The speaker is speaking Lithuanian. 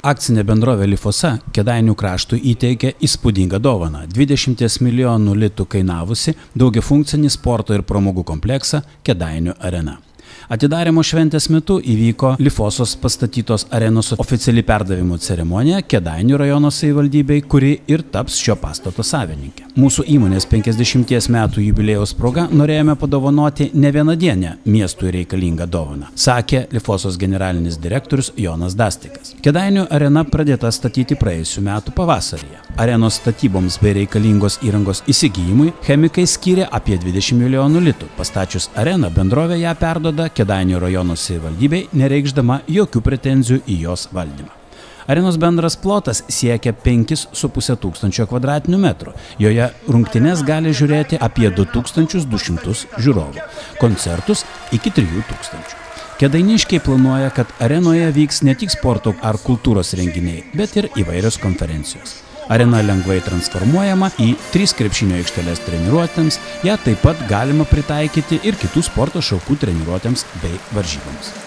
Akcinė bendrovė Lifosa Kėdainių kraštui įteikė įspūdingą dovaną – 20 milijonų litų kainavusi daugiafunkcinį sporto ir pramogų kompleksą Kėdainių arena. Atidarymo šventės metu įvyko Lifosos pastatytos arenos oficiali perdavimo ceremonija Kėdainių rajono savivaldybei, kuri ir taps šio pastato savininkė. Mūsų įmonės 50 metų jubiliejaus proga norėjome padovanoti ne vienadienę miestui reikalingą dovaną, sakė Lifosos generalinis direktorius Jonas Dastikas. Kėdainių arena pradėta statyti praėjusių metų pavasaryje. Arenos statyboms bei reikalingos įrangos įsigijimui chemikai skyrė apie 20 milijonų litų. Pastačius areną, bendrovė ją perduoda Kėdainių rajono savivaldybei, nereikšdama jokių pretenzijų į jos valdymą. Arenos bendras plotas siekia 5,5 tūkstančio kvadratinių metrų. Joje rungtynes gali žiūrėti apie 2200 žiūrovų, koncertus iki 3000. Kėdainiškiai planuoja, kad arenoje vyks ne tik sporto ar kultūros renginiai, bet ir įvairios konferencijos. Arena lengvai transformuojama į 3 krepšinio aikšteles treniruotėms, ją taip pat galima pritaikyti ir kitų sporto šakų treniruotėms bei varžyboms.